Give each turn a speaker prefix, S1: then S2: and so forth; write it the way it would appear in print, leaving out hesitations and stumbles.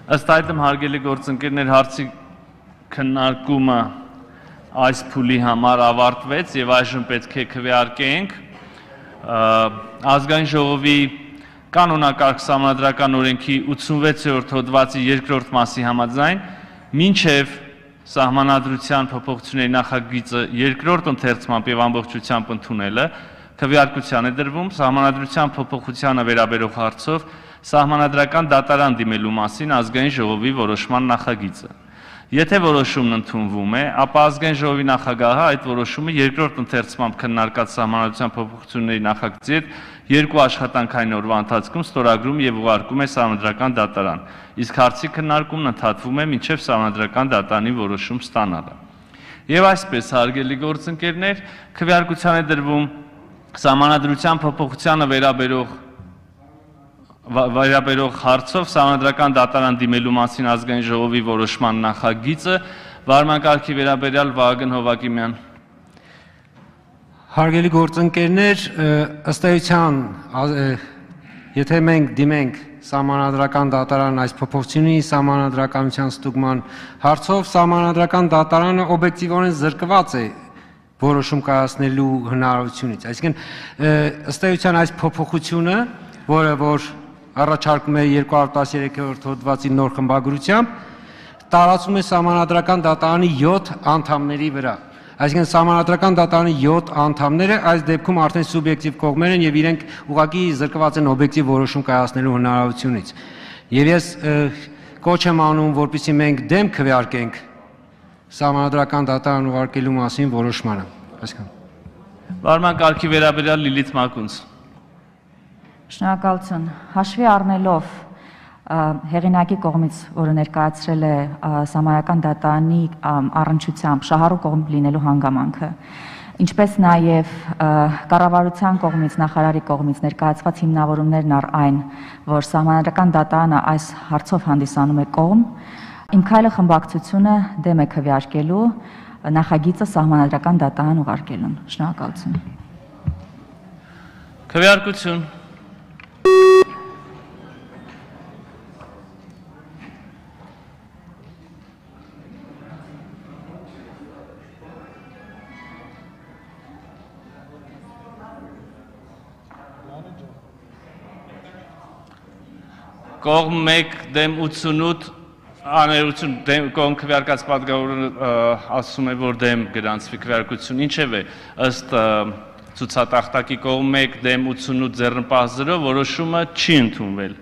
S1: Ըստ այդմ հարգելի գործընկերներ, հարցի քննարկումը այս փուլի համար ավարտվեց եւ այժմ պետք է քվեարկենք ազգային ժողովի կանոնակարգ սահմանադրական օրենքի 86-րդ հոդվածի 2-րդ մասի համաձայն մինչև սահմանադրության փոփոխությունների նախագիծը երկրորդ ընթերցմամբ եւ ամբողջությամբ ընդունելը քվեարկության է դրվում սահմանադրության փոփոխությանը վերաբերող հարցով սահմանադրական դատարան դիմելու մասին ազգային ժողովի որոշման նախագիծը Եթե որոշումն ընդունվում է, ապա ազգային ժողովի նախագահը այդ որոշումը երկրորդ ընթերցմամբ քննարկած սահմանադրության փոփոխությունների նախագծի հետ երկու աշխատանքային օրվա ընթացքում ստորագրում եւ ուղարկում է սահմանադրական դատարան, իսկ հարցի քննարկումն ընդհատվում է մինչեւ սահմանադրական դատարանի որոշում ստանալը։ Եվ այսպես, հարգելի գործընկերներ, քվեարկության է դրվում սահմանադրության փոփոխությանը վերաբերող հարցով սահմանադրական դատարան դիմելու մասին ազգային ժողովի որոշման նախագիծը վարմանկարգի վերաբերյալ Վահագն Հովակիմյան
S2: Հարգելի գործընկերներ, ըստ էության, եթե մենք դիմենք սահմանադրական դատարան այս փոփոխությունների սահմանադրականության ստուգման հարցով, սահմանադրական դատարանը օբյեկտիվորեն զրկված է որոշում կայացնելու հնարավորությունից։ Այսինքն, ըստ էության այս փոփոխությունը, որ առաջարկում է 213-րդ հոդվածի նոր խմբագրությամբ, տարածում է սահմանադրական դատարանի 7 անդամների վրա։ Այսինքն սահմանադրական դատարանի 7 անդամները այս դեպքում արդեն սուբյեկտիվ կողմեր են եւ իրենք ուղղակի զրկված են օբյեկտիվ որոշում կայացնելու հնարավորությունից։ Եվ ես կոչ եմ անում, որպեսզի մենք դեմ քվեարկենք սահմանադրական դատարան ուղարկելու մասին որոշմանը։ Այսքան։
S1: Վարմանկարգի վերաբերյալ Լիլիթ Մակունց
S3: Շնորհակալություն։ Հաշվի առնելով հեղինակի կողմից, որը ներկայացրել է սահմանադրական դատարանի առնչությամբ շահառու կողմ լինելու հանգամանքը, ինչպես նաև կառավարության կողմից, նախարարի կողմից ներկայացված հիմնավորումներն առ այն, որ սահմանադրական դատարանը այս հարցով հանդիսանում է կողմ, իմ քայլը խմբակցությունը դեմ է քվեարկելու նախագիծը սահմանադրական դատարան ուղարկելուն։ Շնորհակալություն։
S1: Քվեարկություն Կողմ 1 դեմ 88 աներություն կողմ քվեարկած պատգամավորը ասում է, որ դեմ գրանցվի քվեարկություն, ինչևէ, ըստ ցուցատախտակի կողմ 1 դեմ 88 ձեռնպահ 0 որոշումը չի ընդունվել։